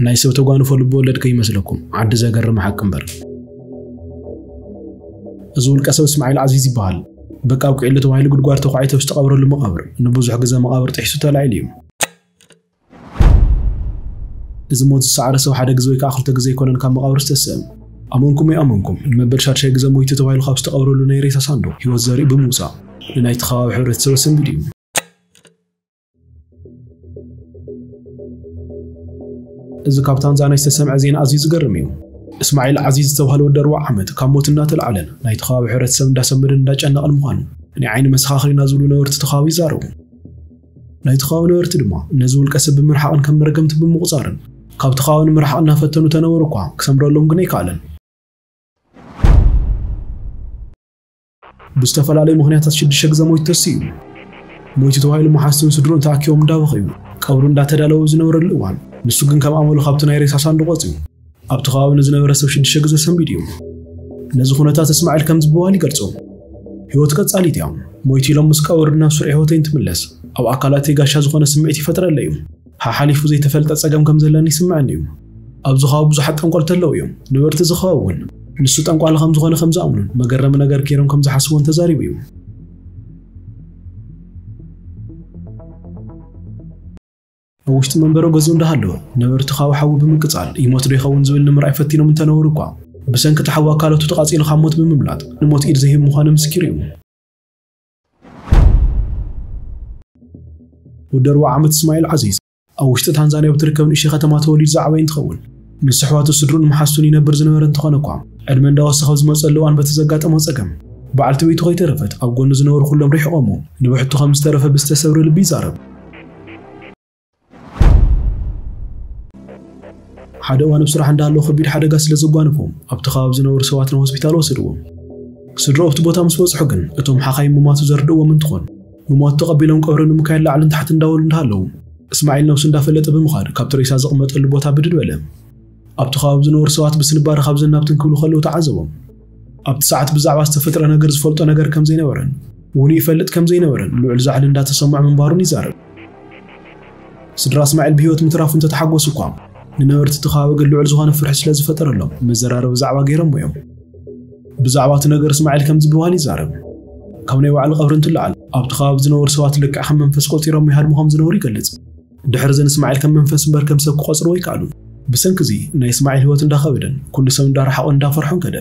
ናይ ሰብ ተጓንፎ ልቢ ወለድ ከይመስለኩም፣ ዓዲ ዘገርም ሓቂ እምበር። እዚ ውልቀ ሰብ እስማዒል ዓዚዝ ይበሃል። በቃ ኣብቂዕሉ ተባሂሉ ጉድጓድ ተዃዒቱ ኣብ ዝተቐብረሉ መቓብር ንብዙሕ ግዜ መቓብር ጥሒሱ ተላዒሉ እዩ። እዚ ሞት ዝሰዓረ ሰብ ሓደ ግዜ ወይ ከዓ ክልተ ግዜ ኣይኮነን ካብ መቓብር ዝተስእ። ኣመንኩም ኣይኣመንኩም፣ ንመበል ሻድሻይ ግዜ ሞይቱ ተባሂሉ ካብ ዝተቐብረሉ ናይ ሬሳ ሳንዱቕ ህይወት ዘርኢ ብምውፃእ ንናይቲ ከባቢ ሕብረተሰብ ኣሰንቢዱ እዩ። እዚ ካብ ታንዛንያ ዝተሰምዐ ዜና ኣዝዩ ዝገርም እዩ። እስማዒል ዓዚዝ ዝተባህለ ወዲ ኣርብዓ ዓመት ካብ ሞት እናተልዓለን ናይቲ ከባቢ ሕብረተሰብ እንዳሰመደን እንዳጨነቐን ምዃኑ ናይ ዓይኒ መሰኻኽሪና ዝብሉ ነበርቲ እቲ ከባቢ ይዛረቡ። ናይቲ ከባቢ ነበርቲ ድማ ነዚ ውልቀ ሰብ ብምርሓቕን ከም መርገምቲ ብምቑጻርን ካብቲ ከባቢ ንምርሓቕ እናፈተኑ ተነበሩ እኳ ክሰምረሎም ግን ኣይከኣለን። ብዝተፈላለዩ ምኽንያታት ሽዱሽተ ግዜ ሞይቱ ተሲኡ። ሞይቱ ተባሂሉ መሓዝቱን ስድሩን ተኣኪቦም እንዳበኸዩ ቀብሩ እንዳተዳለወ ዝነበረሉ እዋን፣ ንሱ ግን ከም ኣመሉ ካብቲ ናይ ሬሳ ሳንዱቕ ወፂኡ ኣብቲ ከባቢ ንዝነበረ ሰብ ሽዱሽተ ግዜ ሰንቢዱ እዩ። ነዚ ኩነታት እስማዒል ከምዚ ብምባል ይገልጾ። ህይወት ቀጻሊት እያ። ሞይቱ ኢሎም ምስ ቀበሩኒ ናብ ስሩዕ ህይወተይ እንትምለስ፣ ኣብ ኣካላተይ ጋሻ ዝኾነ ስምዒት ይፈጥረለይ እዩ። ሓሓሊፉ ዘይተፈልጠ ጸገም ከም ዘለኒ ይስምዐኒ እዩ። ኣብዚ ከባቢ ብዙሓት ጠንቆልቲ ኣለዉ እዮም። ነበርቲ እዚ ከባቢ እውን ንሱ ጠንቋሊ ከም ዝኾነ ከም ዝኣምኑን መገረሚ ነገር ገይሮም ከም ዝሓስቡን ተዛሪቡ እዩ። ኣብ ውሽጢ መንበሪ ገዝኡ እንዳሃለወ ነበርቲ ካብ ሓዊ ብምቅጻል ይሞት ዶ ይኸውን ዝብል ንምርኣይ ፈቲኖም እንተነበሩ እኳ፣ ብሰንኪ እቲ ሓዊ ኣካላቱ ተቓጺሉ ካብ ሞት ብምምላጥ ንሞት ኢድ ዘሂቡ ምዃኑ ምስኪር እዩ። ወዲ ኣርብዓ ዓመት እስማኤል ዓዚዝ ኣብ ውሽጢ ታንዛንያ ብትርከብ ንእሽተይ ከተማ ተወሊዱ ዝዓበየ እንትኸውን፣ ምስ ኣሕዋቱ ስድሩን መሓዝቱን ይነብር ዝነበረ እንተኾነ እኳ፣ ዕድመ እንዳወሰኸ ኣብ ዝመጸሉ እዋን በቲ ዘጋጠሞ ጸገም፣ በዓልቲ ቤቱ ከይተረፈት ኣብ ጎኑ ዝነበሩ ኩሎም ርሒቖሞ፣ ንብሕቱ ከም ዝተረፈ ብዝተሰብረ ልቢ ይዛረብ። ሓደ እዋን ኣብ ስራሕ እንዳሃለወ ከቢድ ሓደጋ ስለ ዘጓነፎም ኣብቲ ከባቢ ዝነበሩ ሰባት ናብ ሆስፒታል ወሰድዎም። ስድራኡ ኣብቲ ቦታ ምስ በጽሑ ግን እቶም ሓኻይም ምሟቱ ዘርድእዎም እንትኾን፣ ምሟቱ ተቐቢሎም ቀብሪ ንምካየድ ላዕልን ታሕትን እንዳበሉ እንዳሃለዉ እስማዒል ነብሱ እንዳፈለጠ ብምኻድ ካብቲ ሬሳ ዝቕመጠሉ ቦታ ብድድ በለ። ኣብቲ ከባቢ ዝነበሩ ሰባት ብስንባደ ካብዝን ናብትን ክብሉ ከለዉ ተዓዘቦም። ኣብቲ ሰዓት ብዛዕባ ዝተፈጥረ ነገር ዝፈልጦ ነገር ከም ዘይነበረን ውኑ ይፈልጥ ከም ዘይነበረን ልዑል ዛዕሊ እንዳተሰምዖ ምንባሩን ይዛረብ። ስድራ እስማዒል ብህይወት ምትራፉ እንተተሓጎሱ እኳ፣ ንነበርቲ እቲ ከባቢ ግን ልዑል ዝኾነ ፍርሒ ስለ ዝፈጠረሎም መዘራረቢ ዛዕባ ገይሮሞ እዮም። ብዛዕባ እቲ ነገር እስማዒል ከምዚ ብምባል ይዛረብ። ካብ ናይ ባዕሉ ቀብሪ እንትለዓል ኣብቲ ከባቢ ዝነበሩ ሰባት ልክዕ ከም መንፈስ ቆጺሮም ይሃድሙ ከም ዝነበሩ ይገልጽ። ድሕሪ እዚ ንእስማዒል ከም መንፈስ እምበር ከም ሰብ ክቆጽርዎ ኣይከኣሉን። ብሰንኪ እዚ ናይ እስማዒል ህይወት እንዳኸበደን ኩሉ ሰብ እንዳረሓቖን እንዳፈርሖን ከደ።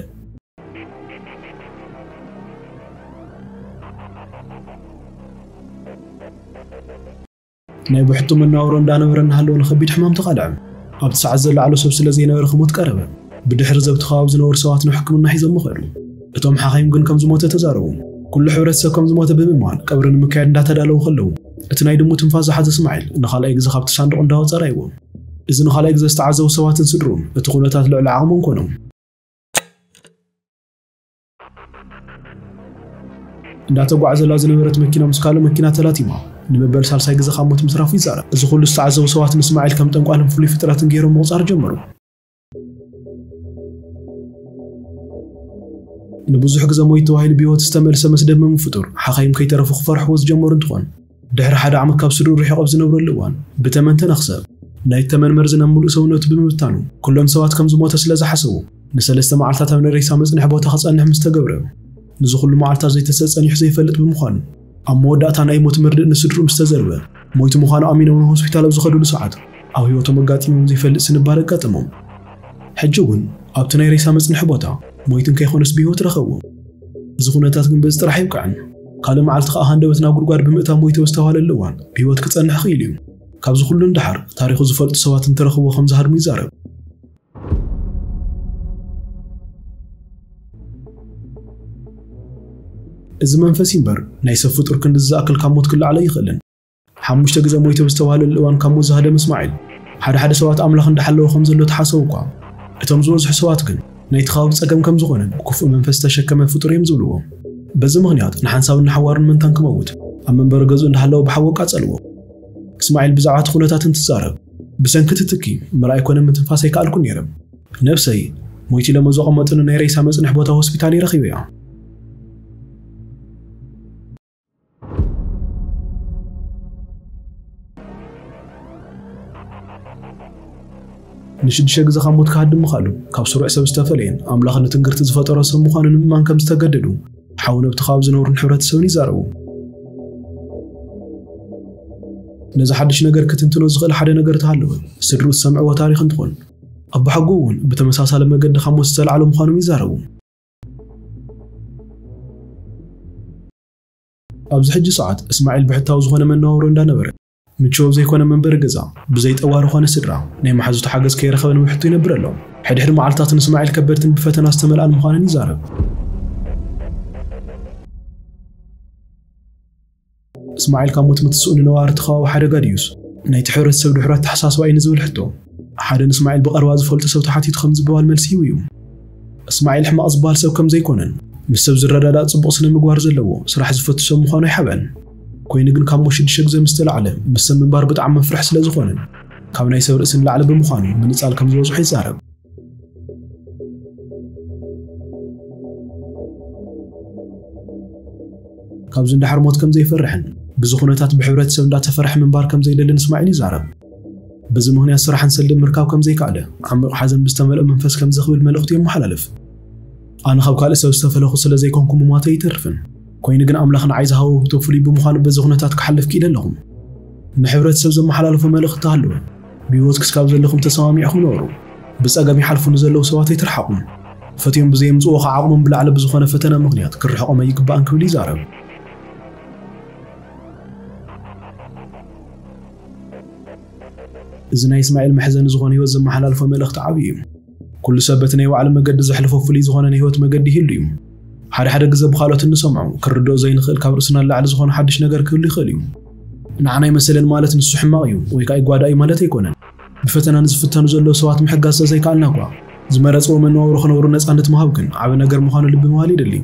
ናይ ብሕቱ መነባብሮ እንዳነበረ እናሃለወ ንኸቢድ ሕማም ተቓልዐ። ኣብቲ ሰዓት ዘለዓሉ ሰብ ስለ ዘይነበረ ክሞት ቀረበ። ብድሕሪ እዚ ኣብቲ ከባቢ ዝነበሩ ሰባት ናብ ሕክምና ሒዞሞ ከዱ። እቶም ሓኻይም ግን ከም ዝሞተ ተዛረቡ። ኩሉ ሕብረተሰብ ከም ዝሞተ ብምእማን ቀብሪ ንምክያድ እንዳተዳለዉ ከለዉ፣ እቲ ናይ ድሙ ትንፋስ ዝሓዘ እስማዒል ንኻልኣይ ግዜ ካብቲ ሳንዱቕ እንዳወጸ ራእይዎ። እዚ ንኻልኣይ ግዜ ዝተዓዘቡ ሰባትን ስድሩን እቲ ኩነታት ልዕሊ ዓቕሞም ኮኖም። እንዳተጓዕዘላ ዝነበረት መኪና ምስ ካልእ መኪና ተላቲማ ንመበል ሳልሳይ ግዜ ካብ ሞት ምትራፉ ይዛረብ። እዚ ኩሉ ዝተዓዘቡ ሰባት ንእስማዒል ከም ጠንቋልን ፍሉይ ፍጥረትን ገይሮም ምቑጻር ጀመሩ። ንብዙሕ ግዜ ሞይቱ ተባሂሉ ብህይወት ዝተመልሰ መስደመሚ ፍጡር ሓኻይም ከይተረፉ ክፈርሕዎ ዝጀመሩ እንትኾን፣ ድሕሪ ሓደ ዓመት ካብ ስድርኡ ርሒቑ ኣብ ዝነብረሉ እዋን ብተመን ተነኽሰ። ናይ ተመን መርዚ ናብ ምሉእ ሰውነቱ ብምብታኑ ኩሎም ሰባት ከም ዝሞተ ስለ ዝሓሰቡ ንሰለስተ መዓልታት ኣብ ናይ ሬሳ መጽንሒ ቦታ ክጸንሕ ምስ ተገብረ፣ ንዚ ኩሉ መዓልታት ዘይተሰ ጸኒሑ ዘይፈልጥ ብምዃኑ፣ ኣብ መወዳእታ ናይ ሞት መርድእ ንስድርኡ ምስ ተዘርበ፣ ሞይቱ ምዃኑ ኣሚኖም ናብ ሆስፒታል ኣብ ዝኸድሉ ሰዓት ኣብ ህይወቶም ኣጋጢሞም ዘይፈልጥ ስንባደ ኣጋጠሞም። ሕጂ እውን ኣብቲ ናይ ሬሳ መጽንሒ ቦታ ሞይቱ እንከይኮነስ ብህይወት ረኸብዎ። እዚ ኩነታት ግን በዚ ጥራሕ ኣይብቅዕን። ካልእ መዓልቲ ከኣ ሃንደበት ናብ ጉድጓድ ብምእታው ሞይቱ ኣብ ዝተባህለሉ እዋን ብህይወት ክጸንሕ ክኢሉ እዩ። ካብዚ ኩሉ ንደሓር ታሪኹ ዝፈልጡ ሰባት እንትረኽብዎ ከም ዝሃድሙ ይዛረብ። እዚ መንፈስ እዩ እምበር ናይ ሰብ ፍጡር ክንድዚ ዝኣክል ካብ ሞት ክለዓል ኣይኽእልን። ሓሙሽተ ግዜ ሞይቱ ኣብ ዝተባህለሉ እዋን ካብ ሞት ዝሃደመ እስማዒል፣ ሓደ ሓደ ሰባት ኣምላኽ እንዳሓለወ ከም ዘሎ ተሓሰቡ እኳ፣ እቶም ዝበዝሑ ሰባት ግን ናይቲ ከባቢ ጸገም ከም ዝኾነን ክፉእ መንፈስ ዝተሸከመ ፍጡር እዮም ዝብልዎ። በዚ ምኽንያት ንሓንሳብን ንሓዋሩን መንታን ክመውት ኣብ መንበሪ ገዝኡ እንዳሃለወ ብሓዊ ኣቃጸልዎ። እስማዒል ብዛዕባ እቲ ኩነታት እንትዛረብ፣ ብሰንኪ እቲ ትኪ ምርኣይ ኮነ ምትንፋስ ኣይከኣልኩን ነይረ። ነብሰይ ሞይቱ ኢሎም ኣብ ዘቐመጡኒ ናይ ሬሳ መጽንሒ ቦታ ሆስፒታል እየ ረኺበያ። ንሽዱሽተ ግዜ ካብ ሞት ክሃድም ምኽኣሉ፣ ካብ ስሩዕ ሰብ ዝተፈለየን ኣምላኽ ንትንግርቲ ዝፈጠሮ ሰብ ምዃኑ ንምእማን ከም ዝተገደዱ ሓው ነብቲ ከባቢ ዝነብሩን ሕብረተሰብን ይዛረቡ። ነዚ ሓድሽ ነገር ክትንትኖ ዝኽእል ሓደ ነገር ተሃለወ፣ ስድርኡ ዝሰምዕዎ ታሪኽ እንትኾን፣ ኣቦሓጎኡ እውን ብተመሳሳሊ መገዲ ካብ ሞት ዝተላዕለ ምዃኖም ይዛረቡ። ኣብዚ ሕጂ ሰዓት እስማዒል ብሕታዊ ዝኾነ መነባብሮ እንዳነበረ፣ ምቹው ዘይኮነ መንበሪ ገዛ፣ ብዘይ ጠዋሪ ኮነ ስድራ፣ ናይ መሓዙቱ ሓገዝ ከይረኸበ ንብሕቱ ይነብር ኣሎ። ሕድሕድ መዓልታት ንእስማዒል ከበድትን ብፈተና ዝተመልኣን ምዃነን ይዛረብ። እስማዒል ካብ ሞት ምትስኡ ንነባሪ እቲ ከባቢ ሓደጋ ድዩስ ናይቲ ሕብረተሰብ ድሑር ኣተሓሳስባ እዩ ንዝብል ሕቶ፣ ሓደ ንእስማዒል ብቐረባ ዝፈልጦ ሰብ ተሓቲቱ ከምዚ ብምባል መልሲ ሂቡ እዩ። እስማዒል ሕማቕ ዝበሃል ሰብ ከም ዘይኮነን፣ ምስ ሰብ ዝረዳዳእ ጽቡቕ ስነ ምግባር ዘለዎ፣ ስራሕ ዝፈቱ ሰብ ምዃኑ ኣይሓብአን። ኮይኑ ግን ካብ ሞት ሽዱሽተ ግዜ ምስ ተላዕለ፣ ምስ ሰብ ምንባር ብጣዕሚ መፍርሒ ስለ ዝኾነን፣ ካብ ናይ ሰብ ርእሲ ንላዕሊ ብምዃኑ ምንጻል ከም ዝበዝሖ ይዛረብ። ካብዚ እንድሕር ሞት ከም ዘይፈርሕን፣ ብዚ ኩነታት ብሕብረተሰብ እንዳተፈርሐ ምንባር ከም ዘይደልን እስማዒል ይዛረብ። በዚ ምኽንያት ስራሕን ሰልድን ምርካብ ከም ዘይከኣለ፣ ዓሚቕ ሓዘን ብዝተመልኦ መንፈስ ከም ዘኽብል መልእኽቱ የመሓላልፍ። ኣነ ካብ ካልእ ሰብ ዝተፈለኹ ስለ ዘይኮንኩ ምሟተይ ኣይተርፍን። ኮይኑ ግን ኣምላኽ ንዓይ ዝሃቦ ውህብቶ ፍሉይ ብምዃኑ በዚ ኩነታት ክሓልፍ ክኢለ ኣለኹ። ንሕብረተሰብ ዘመሓላልፎ መልእኽቲ ተሃለወ። ብህይወት ክስካብ ዘለኹም ተሰማሚዕኹም ንበሩ። ብጸገም ይሓልፉ ንዘለዉ ሰባት ኣይትርሓቑም። ፈትዮም ብዘየምጽእዎ ከዓ ዓቕሞም ብላዕሊ ብዝኾነ ፈተና ምኽንያት ክርሕቖም ኣይግባእን ክብል ይዛረብ። እዚ ናይ እስማዒል መሕዘኒ ዝኾነ ህይወት ዘመሓላልፎ መልእኽቲ ዓብዪ እዩ። ኩሉ ሰብ በቲ ናይ ባዕሉ መገዲ ዘሕልፎ ፍሉይ ዝኾነ ናይ ህይወት መገዲ ይህሉ እዩ። ሓደ ሓደ ግዘ ብኻልኦት እንሰምዖ፣ ክርድኦ ዘይንኽእል ካብ ርእስና ንላዕሊ ዝኾነ ሓድሽ ነገር ክህሉ ይኽእል እዩ። ንዓና ኣይመሰለን ማለት ንሱ ሕማቕ እዩ ወይ ከዓ ይጓዳእ እዩ ማለት ኣይኮነን። ብፈተና ንዝፍተኑ ዘለዉ ሰባት ምሕጋዝ ተዘይከኣልና እኳ፣ ዝመረፅዎ መነባብሮ ክነብሩ ነፃነት ምሃብ ግን ዓቢ ነገር ምዃኑ ልቢ ምባል የድሊ።